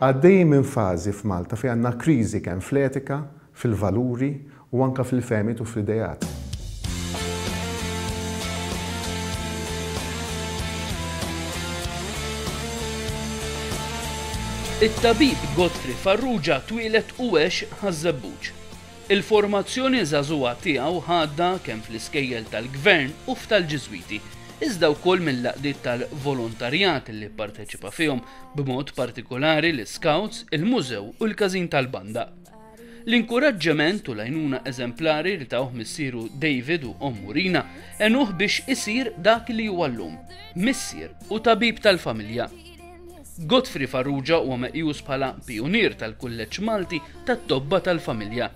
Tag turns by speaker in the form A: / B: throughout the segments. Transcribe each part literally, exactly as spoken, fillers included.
A: Għaddej minn fażi f'Malta fejn għandna kriżi kemm fl-etika, fil-valuri u anke fil-fehmiet u fl-idejat.
B: It-tabib Godfrey Farrugia twieled u għex Ħaż-Żebbuġ. Il-formazzjoni żagħżugħa tiegħu ħadha kemm fl-iskejjel tal-gvern u f'tal-Ġiżwiti, iżda wkoll mill-għaqdiet tal-volontarjat li pparteċipa fihom, b'mod partikolari l-Scouts, il-Mużew u l-Każin tal-Banda. L-inkuraġġiment u l-għajnuna eżemplari li tawh missieru David u ommu Rina għenuh biex isir dak li huwa llum, missier u tabib tal-familja. Godfrey Farrugia huwa meqjus bħala pionier tal-Kulleġġ Malti tat-Tobba tal-Familja.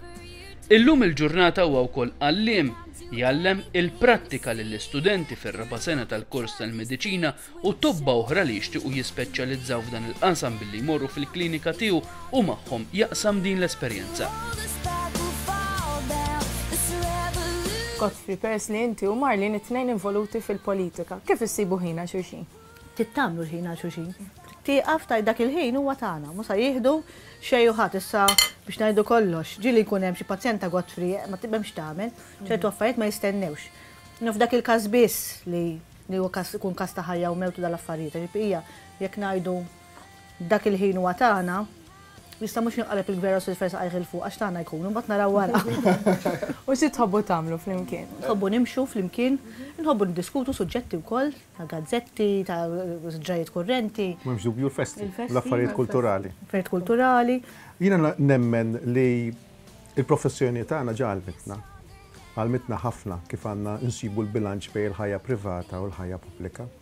B: Illum il-ġurnata huwa wkoll għalliem, jgħallem il-prattika lill-istudenti fir-raba' sena tal-kors tal-mediċina u tobba oħra li jixtiequ jispeċjalizzaw f'dan il-qasam billi jmorru fil-klinika tiegħu u magħhom jaqsam din l-esperjenza.
C: Godfrey, peress li inti u Marlene it-tnejn involuti fil-politika, kif issibu ħin għal xulxin?
D: Tittamlu l-ħin għal xulxin. Tieqaf taj dak il-ħin huwa tagħna, mhux se jieħdu xejn u ħadd issa biex ngħidu kollox. Ġieli jkun hemm xi pazjent ta' Godfrey ma tibhemx tagħmel, ċertu affarijiet ma jistennewx. No f'dak il-każ biss li li huwa każ ikun każ ta' ħajja u mewtu dal-affarijiet, ġifieri jekk ngħidu dak il-ħin huwa tagħna, jista' mhux jinqaleb il-gvern u s għajħ il fuq għax tagħna jkunu, mbagħad naraw wara.
C: U xi tħobbu tagħmlu flimkien?
D: Nħobbu nimxu flimkien, nħobbu niddiskutu suġġetti wkoll, ta' gazzetti, ta' ġrajiet kurrenti.
A: M'hemmx dubju l-festi,
D: Il-festi,
A: l-affarijiet kulturali.
D: Affarijiet kulturali.
A: Jiena nemmen li il-professjoni tagħna ġa għallmitna. Għallmitna ħafna kif għandna nsibu l-bilanċ bejn il-ħajja privata u l-ħajja pubblika.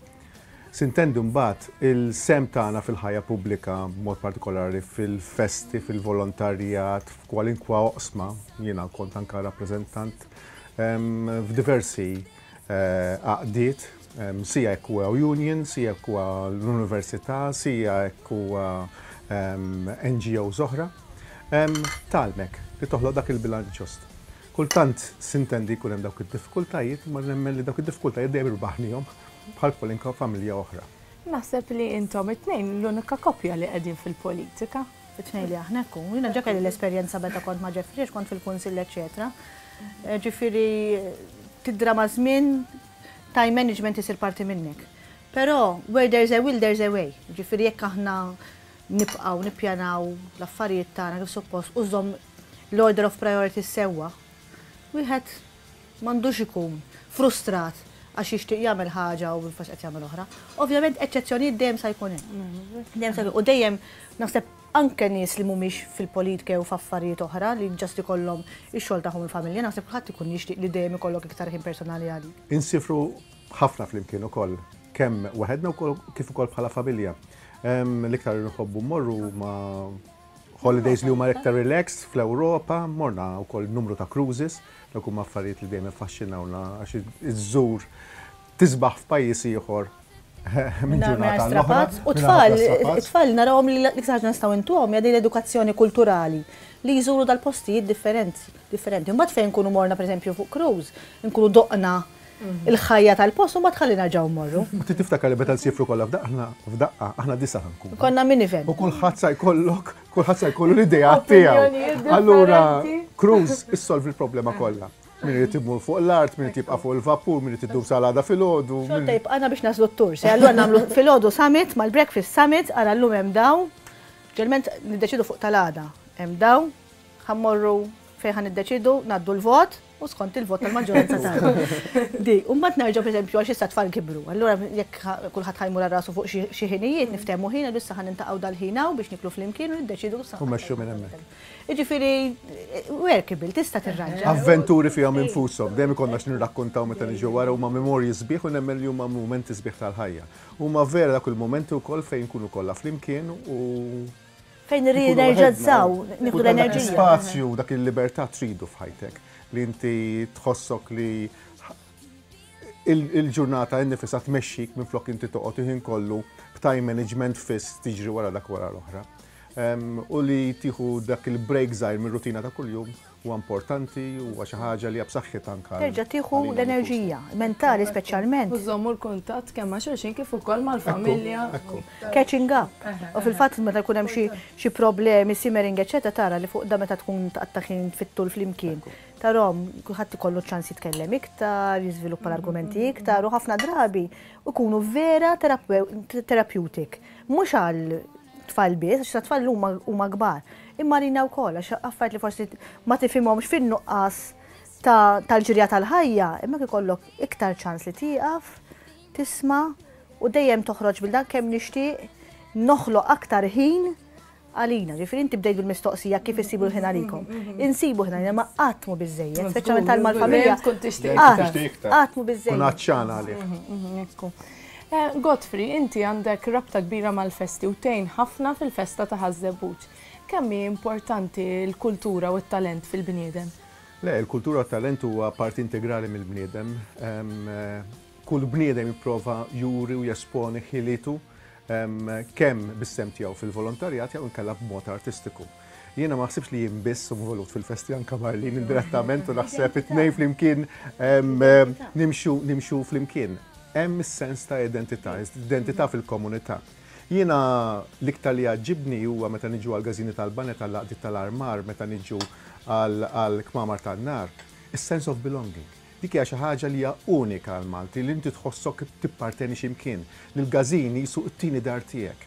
A: Sintendu mbagħad il-sehem tagħna fil-ħajja pubblika, b'mod partikolari fil-festi, fil-volontarjat, f'kwalinkwa oqsma, jiena kont anka rappreżentant em, f'diversi eh, għaqdiet, em, sija jekk huwa union, sija jekk huwa l-università, sija jekk huwa em, N G Os oħra, em, tgħallmek li toħloq dak il-bilanċ ġust. Kultant sintendi jkun hemm dawk id-diffikultajiet, ma nemmen li dawk id-diffikultajiet dejjem irbaħnihom bħal kwalunkwe familja oħra.
C: Naħseb li intom it-tnejn l-unika koppja li qegħdin fil-politika.
D: It-tnejn li aħna hekk. Jiena ġa kelli l-esperjenza meta kont ma' Jeffrey, għax kont fil-kunsill, eċetera. Eh, Ġifieri tidra ma' żmien, time management isir parti minnek. Però where there's a will, there's a way. Ġifieri jekk aħna nibqgħu nippjanaw l-affarijiet tagħna kif suppost u żomm l-order of priorities sewwa, wieħed m'għandux ikun frustrat għax jixtieq jagħmel ħaġa u bil qed jagħmel oħra. Ovvjament eċċezzjonijiet dejjem sa jkun hemm. Dejjem sa jkun u dejjem naħseb anke nies li mhumiex fil-politika u f'affarijiet oħra li just ikollhom ix-xogħol tagħhom il-familja, naħseb kulħadd ikun jixtieq li dejjem ikollok iktar ħin personali għalik.
A: Insifru ħafna flimkien ukoll, kemm waħedna wkoll kif ukoll bħala familja. Em, L-iktar li nħobbu mmorru ma' holidays li huma iktar relaxed fl-Ewropa, morna wkoll numru ta' cruises, dawk huma affarijiet li dejjem iffaxxinawna għax iżżur tisbaħ f'pajjiż ieħor minn ġurnata għall-oħra.
D: Strapazz. U
A: mingħajr
D: tfal,
A: ħafna strapazz.
D: It-tfal narawhom li l-iktar ħaġa nistgħu intuhom hija din l-edukazzjoni kulturali li jżuru dal-postijiet differenti. Differenti. Mbagħad fejn nkunu morna, pereżempju, fuq cruise, nkunu doqna il-ħajja tal-post u mbagħad ħalli nerġgħu mmorru.
A: U ti tiftakar li meta nsifru kollha f'daqqa, f'daqqa, aħna disa nkunu.
D: Konna minivan.
A: U kulħadd sa jkollok, kulħadd sa jkollu l-idea tiegħu.
C: Opinjonijiet
A: Allura,
C: differenti.
A: Cruise issolvi l-problema kollha. Min irid imur fuq l-art, min irid jibqa' fuq il-vapur, min irid idum sal-għada filgħodu.
D: Xorta jibqana biex naslu t-tur. Se allura nagħmlu filgħodu summit mal-breakfast summit, ara llum hemm daw. Ġelment niddeċidu fuq tal-għada. Hemm daw, ħa mmorru fejn ħa niddeċidu, ngħaddu l-vot u skont il-vot tal-maġġoranza tagħna. Di, u mbagħad nerġgħu, pereżempju, għax issa tfal kibru. Allura jekk kulħadd ħa jmur rasu fuq xi ħinijiet, niftehmu ħin, issa ħa nintaqgħu dal-ħin hawn biex niklu flimkien u niddeċidu sa.
A: U mexxu minn hemmhekk.
D: Jiġifieri workable, tista' tirranġa.
A: Avventuri fihom infushom, dejjem ikollna x'nirrakkontaw meta niġu wara, huma memorji sbieħ u nemmen li huma mumenti sbieħ tal-ħajja. Huma vera dak il-mumenti wkoll fejn nkunu kollha flimkien u
D: fejn rridu nerġazzaw, nieħdu l-enerġija.
A: Spazju, dak il-libertà tridu f'ħajtek. li inti tħossok li il-ġurnata innifisha tmexxik minflok inti toqgħod il-ħin kollu b'time management fiss tiġri wara dak wara l-oħra. U li tieħu dak il-break żgħir mir-rutina ta' kuljum huwa importanti, huwa xi ħaġa li hija b'saħħitha anke.
D: Terġa' tieħu l-enerġija, mentali speċjalment.
C: U żommu l-kuntatt kemm ma' xulxin kif ukoll mal-familja.
D: Catching up. U fil-fatt meta jkun hemm xi problemi, simmering, eċetera, tara li fuq da meta tkun tqatta' ħin fit-tul flimkien. Tarahom, kulħadd ikollu ċans jitkellem iktar, jiżviluppa l-argumenti iktar u ħafna drabi ikunu vera therapeutic. Mhux għal tfal biss, għax tfal huma kbar. Imma rina wkoll għax affarijiet li forsi ma tifhimhomx fin-nuqqas tal-ġirja tal-ħajja, imma ikollok iktar ċans li tieqaf, tisma' u dejjem toħroġ bil dan kemm nixtieq noħloq aktar ħin għalina. Ġifieri inti bdejt bil-mistoqsija kif issibu l-ħin għalikom. Insibu ħin għalina ma qatt mhu biżejjed, speċjalment tal-mal-familja. Qatt mhu biżejjed.
A: Kun għatxan għalih.
C: Godfrey, inti għandek rabta kbira mal-festi u tgħin ħafna fil-festa ta' Ħaż-Żebbuġ. Kemm hi importanti l-kultura u t-talent fil-bniedem?
A: Le, il-kultura u t-talent huwa parti integrali mill-bniedem. Kull bniedem jipprova juri u jesponi ħilitu kemm bis-sem tiegħu fil-volontarjat jew inkella b'mod artistiku. Jiena ma ħsibx li jien biss involut fil-festi, anke Marlene indirettament, u naħseb it-tnejn flimkien nimxu nimxu flimkien. Hemm is-sens ta' identità, identità fil-komunità. Jiena l-iktar li jogħġobni huwa meta niġu għal gażini tal-banet, tal-laqdiet tal-armar, meta niġu għal kmamar tan-nar, is-sense of belonging. Dik hija xi ħaġa li hija unika għal Malti, li inti tħossok tipparteni x'imkien, li l-gażini jisu t-tieni dar tiegħek.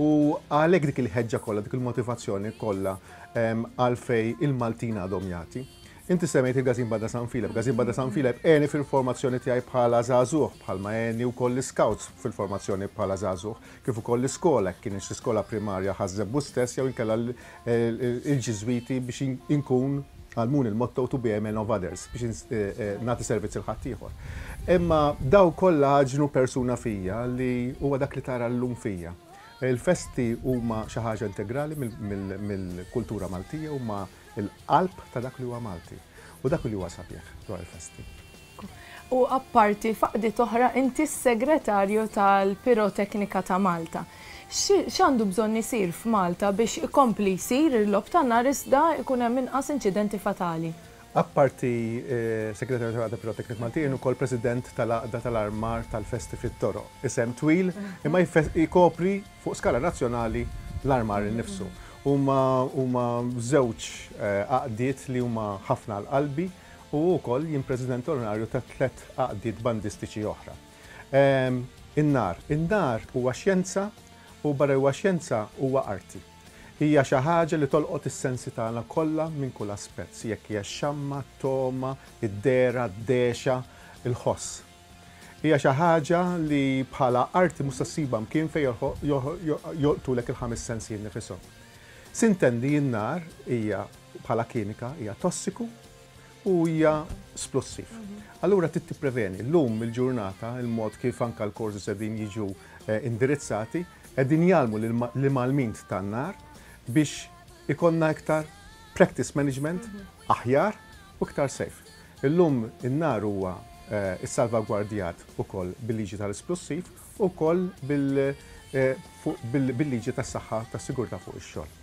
A: U għalhekk dik il-ħeġġa kollha, dik il-motivazzjoni kollha għalfej il-Maltin għadhom jagħti. Inti semmejt il-Gazin Banda San Filep. Gazin Banda San Filep għeni fil-formazzjoni tiegħi bħala żagħżugħ, bħalma għeni wkoll l-scouts fil-formazzjoni bħala żagħżugħ, kif ukoll l-iskola, kien l-iskola primarja Ħaż-Żebbuġ stess jew inkella l-Ġiżwiti biex inkun għallmuni il-motto "to be a man of others" biex nagħti servizz lil ħaddieħor. Imma daw kollha għaġnu persuna fija li huwa dak li tara llum fija. Il-festi huma xi ħaġa integrali mill-kultura Maltija, huma il-qalb ta' dak li huwa Malti u dak li huwa sabiħ dwar il-festi.
C: U apparti faqdi oħra, inti s-segretarju tal-Piroteknika ta' Malta. X'għandu bżonn isir f'Malta biex ikompli jsir il-logħob tan-nar iżda ikun hemm inqas inċidenti fatali?
A: Apparti segretarju tal-Għaqda Piroteknika Maltija, jien ukoll president tal-Għaqda tal-Armar tal-Festi fit-Toroq. Isem twil, imma jkopri fuq skala nazzjonali l-armar innifsu. Huma huma żewġ għaqdiet li huma ħafna għal qalbi u wkoll jien president onorarju ta' tliet għaqdiet bandistiċi oħra. In-nar, in-nar huwa xjenza u barra huwa xjenza huwa arti. Hija xi ħaġa li tolqot is-sensi tagħna kollha minn kull aspett, jekk hija x-xamma, t-togħma, id-dehra, d-dehxa, il-ħoss. Hija xi ħaġa li bħala arti mhux ssibha mkien fejn jolqtulek il-ħames sensi nifishom. Sintendi, n-nar hija bħala kimika hija tossiku u hija splussiv. Allura trid tippreveni. Llum il-ġurnata, il-mod kif anke l-korsi qegħdin jiġu indirizzati, qegħdin jgħallmu l-imgħallmin tan-nar biex ikollna iktar practice management aħjar u iktar safe. Illum in-nar huwa issalvagwardjat ukoll bil-liġi tal-isplussiv u wkoll bil-liġi tas-saħħa tas-sigurtà fuq ix-xogħol.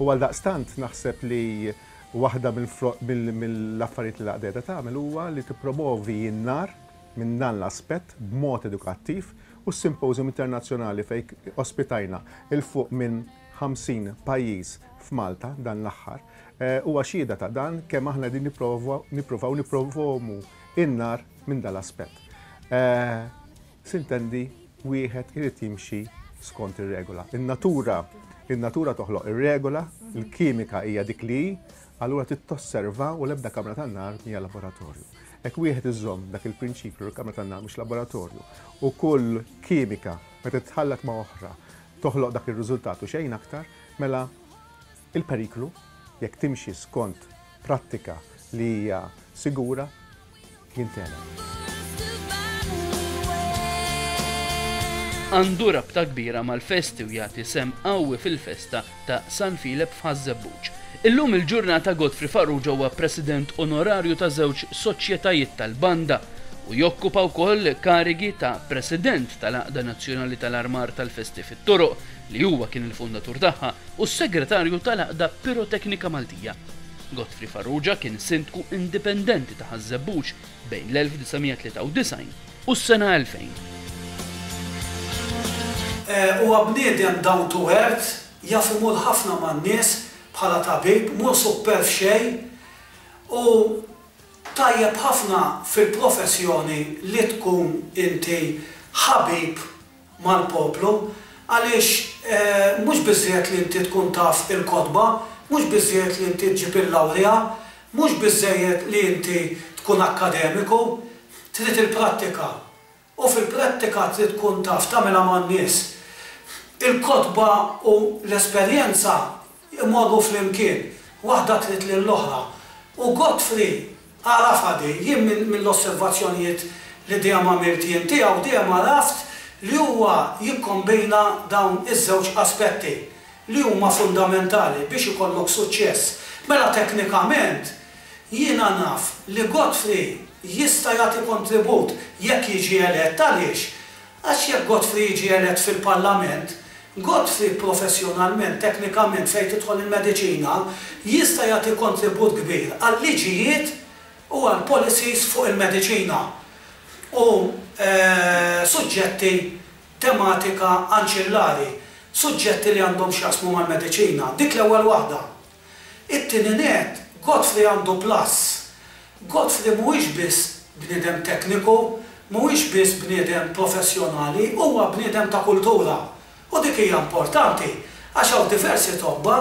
A: U għaldaqstant naħseb li waħda mill-affarijiet li l-għaqda tagħmel huwa li tippromovi n-nar minn dan l-aspett b'mod edukattiv, u s-simposium internazzjonali fejn ospitajna 'il fuq minn ħamsin pajjiż f'Malta dan l-aħħar huwa xhieda ta' dan, kemm aħna din nippruvaw nippromovu in-nar minn dan l-aspett. Sintendi, wieħed irid jimxi skont ir-regola. In-natura in-natura toħloq ir-regola, il-kimika hija dik li, allura trid tosserva u l-ebda kamra tan-nar hija laboratorju. Jekk wieħed iżomm dak il-prinċipju li l-kamra tan-nar mhux laboratorju u kull kimika meta titħallat ma' oħra toħloq dak ir-riżultat u xejn aktar, mela il-periklu, jekk timxi skont prattika li hija sigura, jintgħeleb.
B: Għandu rabta kbira mal-festi u jagħti sehem qawwi fil-festa ta' San Filep f'Ħaż-Żebbuġ. Illum il-ġurnata Godfrey Farrugia huwa president onorarju ta' żewġ soċjetajiet tal-banda u jokkupa wkoll karigi ta' president tal-Għaqda Nazzjonali tal-Armar tal-Festi fit-Toroq, li huwa kien il-fundatur tagħha, u s-segretarju tal-Għaqda Piroteknika Maltija. Godfrey Farrugia kien sindku indipendenti ta' Ħaż-Żebbuġ bejn l-elf disa' mija tlieta u disgħin u s-sena elfejn.
E: Huwa bniedem down to earth, jaf imur ħafna man-nies bħala tabib, mhu supperv xejn u tajjeb ħafna fil-professjoni li tkun inti ħabib mal-poplu, għaliex mhux biżżejjed li inti tkun taf il-kotba, mhux biżżejjed li inti ġġib il-lawrja, mhux biżżejjed li inti tkun akademiku, trid il-prattika. U fil-prattika trid tkun taf tagħmilha man-nies. Il-kotba u l-esperjenza imorru flimkien, waħda trid lill-oħra. U Godfrey għarafha di, jien mill-osservazzjonijiet li dejjem għamilt jien tiegħu dejjem għaraft li huwa jikkombina dawn iż-żewġ aspetti li huma fundamentali biex ikollok suċċess. Mela teknikament jiena naf li Godfrey jista' jagħti kontribut jekk jiġi elett. Għaliex? Għax jekk Godfrey jiġi elett fil-Parlament, Godfrey professjonalment, teknikament, fejn tidħol il-mediċina, jista' jagħti kontribut kbir għal-liġijiet u għal policies fuq il-mediċina u suġġetti tematika anċillari, suġġetti li għandhom x'jaqsmu mal-mediċina. Dik l-ewwel waħda. It-tieni net, Godfrey għandu plus. Godfrey mhuwiex biss bniedem tekniku, mhuwiex biss bniedem professjonali, huwa bniedem ta' kultura. U dik hija importanti, għax hawn diversi tobba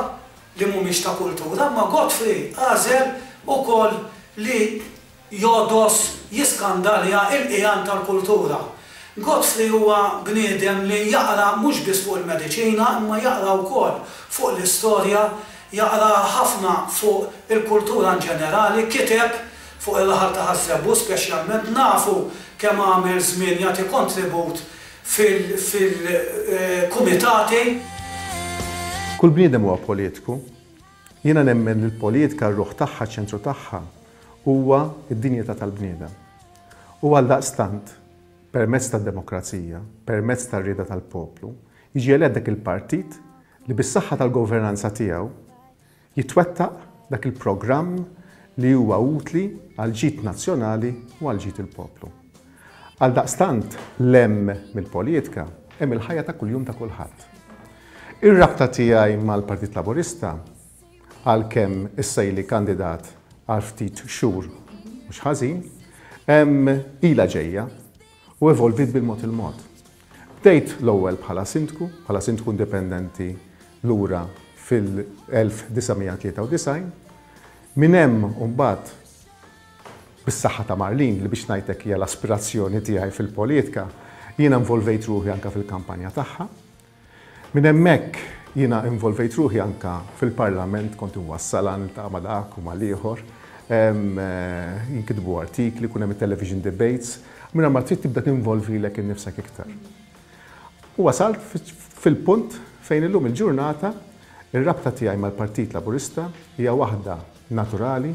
E: li mhumiex ta' kultura, ma Godfrey għażel ukoll li jodos jiskandalja il-qiegħan tal-kultura. Godfrey huwa bniedem li jaqra mhux biss fuq il-mediċina, imma jaqra wkoll fuq l-istorja, jaqra ħafna fuq il-kultura in ġenerali, kiteb fuq il-raħal ta' Ħaż-Żebbuġ speċjalment, nafu kemm għamel żmien jagħti kontribut fil-kumitati.
A: Kull bniedem huwa politiku. Jiena nemmen li l-politika, r-ruħ tagħha, ċentru tagħha, huwa id-dinjità tal-bniedem. U għaldaqstant, permezz tad-demokrazija, permezz tar-rieda tal-poplu, jiġi elett dak il-partit li bis-saħħa tal-governanza tiegħu jitwettaq dak il-programm li huwa utli għal ġid nazzjonali u għal ġid il-poplu. Għaldaqstant lil hinn mill-politika hemm il-ħajja ta' kuljum ta' kulħadd. Ir-rabta tiegħi mal-Partit Laburista, għalkemm issa ili kandidat għal ftit xhur mhux ħażin, ilha ġejja u evolvit bil-mod il-mod. Bdejt l-ewwel bħala sindku, bħala sindku indipendenti lura fil-elf disa' mija tlieta u disgħin, minn hemm mbagħad bis-saħħa ta' Marlene, li biex ngħidlek hija l-aspirazzjoni tiegħi fil-politika, jiena involvejt ruħi anka fil-kampanja tagħha. Minn hemmhekk jiena involvejt ruħi anka fil-Parlament, kont inwassala, niltaqa' ma' dak u mal-ieħor, jinkitbu artikli, kun hemm television debates, minn ma trid tibda tinvolvi lilek innifsek iktar. U wasalt fil-punt fejn illum il-ġurnata ir-rabta tiegħi mal-Partit Laburista hija waħda naturali,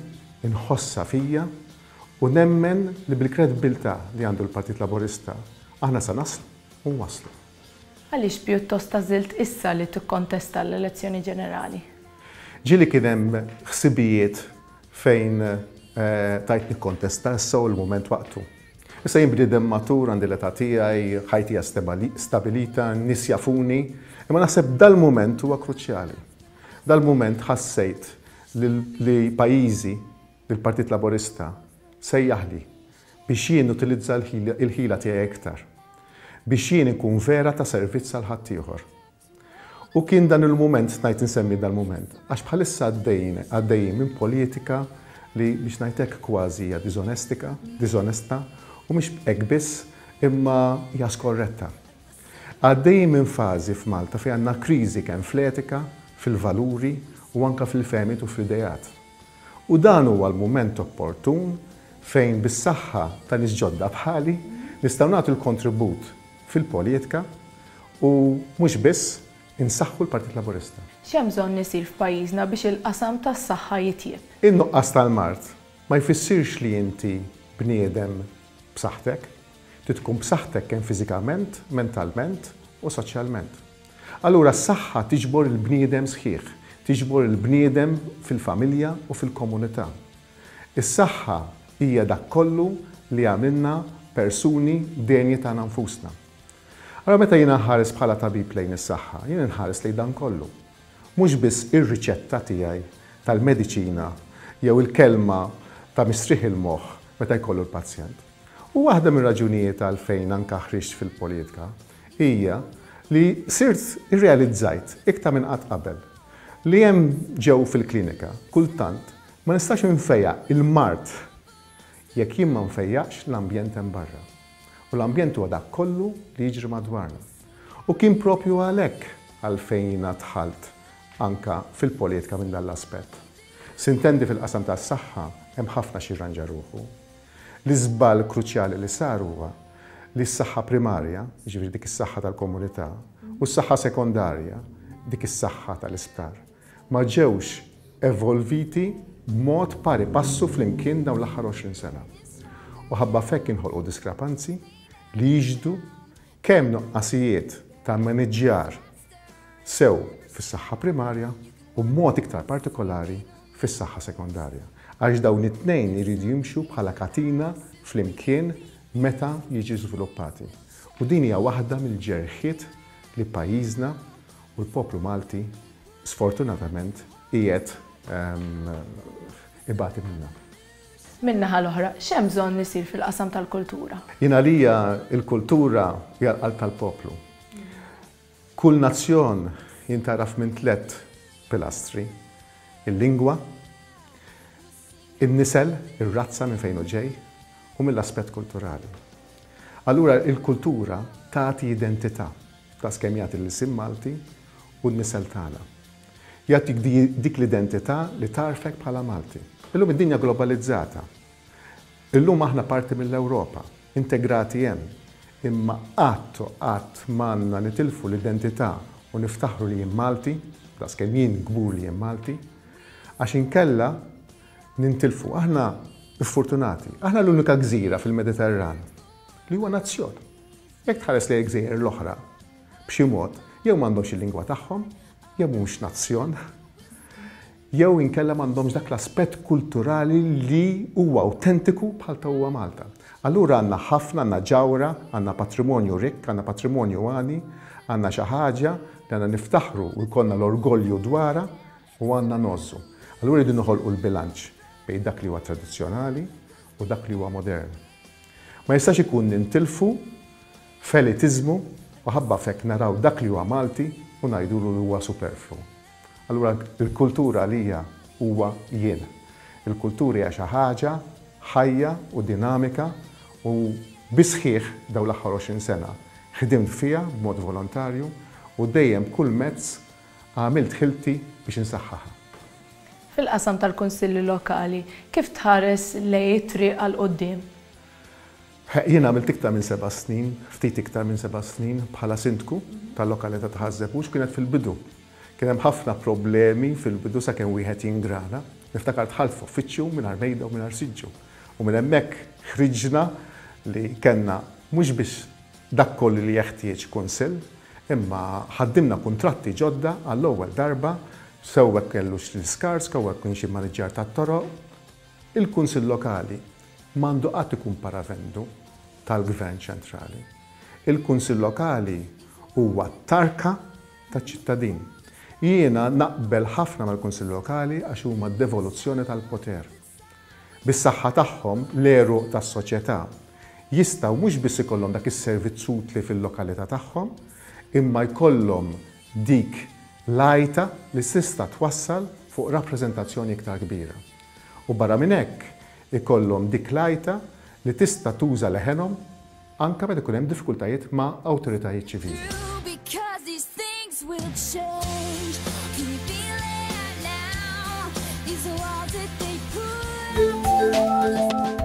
A: inħossa fija u nemmen li bil-kredibilità li għandu l-Partit Laburista aħna sa naslu u waslu.
C: Għaliex pjuttost għażilt issa li tikkontesta l-elezzjoni ġenerali?
A: Ġieli kien hemm ħsibijiet fejn eh, tajt nikkontesta issa u l-moment waqtu. Issa jien bniedem matur, għandi l-età tiegħi, ħajti hija stabilita, nies jafuni, imma naħseb dal-moment huwa kruċjali. Dal-moment ħassejt li pajjiżi, l-Partit Laburista sejjaħli biex jien utilizza l-ħila tiegħi iktar, biex jien ikun vera ta' servizz għal ħaddieħor. U kien dan il-moment, ngħid insemmi dal-moment, għax bħalissa għaddejjin għaddejjin minn politika li biex ngħidlek kważi hija diżonestika, diżonesta, u mhux hekk biss, imma hija skorretta. Għaddejjin minn fażi f'Malta fejn għandna kriżi kemm fl-etika, fil-valuri u anka fil-fehmiet u fl-idejat. U dan huwa l-mument opportun fejn bis-saħħa ta' nies ġodda bħali nistgħu nagħtu l-kontribut fil-politika. U mhux biss insaħħu l-Partit Laburista.
C: X'hemm bżonn isir f'pajjiżna biex il-qasam tas-saħħa jitjieb?
A: In-nuqqas tal-mard ma jfissirx li inti bniedem b'saħħtek. Trid tkun b'saħħtek kemm fiżikament, mentalment u soċjalment. Allura s-saħħa tiġbor il-bniedem sħiħ, tiġbor il-bniedem fil-familja u fil-komunità. Is-saħħa hija dak kollu li għamilna persuni denji tagħna nfusna. Allora meta jiena nħares bħala tabib lejn is-saħħa, jiena nħares lejn dan kollu. Mhux biss ir-riċetta tiegħi tal-mediċina jew il-kelma ta' mistrieħ il-moħħ meta jkollu l-pazjent. U waħda mir-raġunijiet għalfejn anke ħriġt fil-politika hija li sirt irrealizzajt iktar minn qatt qabel li hemm ġew fil-klinika kultant ma nistax nfejjaq il-mard jekk jien ma nfejjaqx l-ambjent hemm barra. U l-ambjent huwa dak kollu li jiġri madwarna. U kien propju għalhekk għalfejn jiena dħalt anka fil-politika minn dan l-aspett. Sintendi fil-qasam tas-saħħa hemm ħafna xi jirranġa ruħu. L-iżball kruċjali li sar huwa li s-saħħa primarja, jiġifieri dik is-saħħa tal-komunità, u s-saħħa sekondarja, dik is-saħħa tal-isptar, ma ġewx evolviti b'mod pari passu flimkien dawn l-aħħar għoxrin sena. U ħabba fekk inħolqu diskrepanzi li jiġdu kemm nuqqasijiet ta' maniġġjar sew fis-saħħa primarja u b'mod iktar partikolari fis-saħħa sekondarja. Għax dawn it-tnejn iridu jimxu bħala katina flimkien meta jiġu żviluppati. U din hija waħda mill-ġerħiet li pajjiżna u l-poplu Malti sfortunatament qiegħed ibati minnha.
C: Min-naħa l-oħra, x'hemm bżonn isir fil-qasam tal-kultura?
A: Jien għalija l-kultura hija l-qalb tal-poplu. Kull nazzjon jintaraf minn tliet pilastri: il-lingwa, in-nisel, ir-razza minn fejn hu ġej, u mill-aspett kulturali. Allura il-kultura tagħti identità ta' skemm jagħti l-isim Malti u n-nisel tagħna. Jagħtik dik l-identità li tarfek bħala Malti. Illum id-dinja globalizzata. Illum aħna parti mill-Ewropa, integrati hemm, imma qatt u qatt m'għandna nitilfu l-identità u niftaħru li jien Malti, daqskemm jien kbur li jien Malti, għax inkella nintilfu. Aħna fortunati, aħna l-unika gżira fil-Mediterran li huwa nazzjon. Jekk tħares lejn gżejjer l-oħra, b'xi mod, jew m'għandhomx il-lingwa tagħhom, jew mhux nazzjon, jew inkella m'għandhomx dak l-aspett kulturali li huwa autentiku bħal ta' huwa Malta. Allura għandna ħafna, għandna ġawra, għandna patrimonju rikk, għandna patrimonju għani, għandna xi ħaġa li għandna niftaħru u jkollna l-orgolju dwarha u għandna ngħożżu. Allura rridu noħolqu l-bilanċ bejn dak li huwa tradizzjonali u dak li huwa modern. Ma jistax ikun nintilfu f'elitiżmu u ħabba fekk naraw dak li huwa Malti u ngħidulu li huwa superflu. Allura il-kultura għalija huwa jien. Il-kultura hija xi ħaġa ħajja u dinamika u bisħiħ dawn l-aħħar għoxrin sena ħdimt fiha b'mod volontarju u dejjem kull mezz għamilt ħilti biex insaħħaha.
C: Fil-qasam tal-Kunsilli Lokali, kif tħares lejn it-triq għal quddiem?
A: Jien għamilt iktar minn seba' snin, ftit iktar minn seba' snin bħala sindku tal-lokalità ta' Ħaż-Żebbuġ, kienet fil-bidu. Kien hemm ħafna problemi fil-bidu sakemm wieħed jingrana. Niftakar dħalt f'uffiċċju mingħajr mejda u mingħajr siġġu. U minn hemmhekk ħriġna li kellna mhux biss dak kollu li jeħtieġ kunsill, imma ħaddimna kuntratti ġodda għall-ewwel darba, sew hekk kellux l-iskars, sew hekk kienx immaniġġjar tat-toroq. Il-Kunsill Lokali m'għandu qatt ikun paravendu tal-Gvern ċentrali. Il-Kunsill Lokali huwa tarka taċ-ċittadin. Jiena naqbel ħafna mal-Kunsill Lokali għax huma d-devoluzzjoni tal-poter. Bis-saħħa tagħhom l-għeruq tas-soċjetà jistgħu mhux biss ikollhom dak is-servizz utli fil-lokalità tagħhom, imma jkollhom dik l-għajta li tista' twassal fuq rappreżentazzjoni iktar kbira. U barra minn hekk ikollhom dik l-għajta li tista' tuża leħenhom anke meta ikun hemm diffikultajiet ma' awtoritajiet ċivili.
F: These walls that they put up.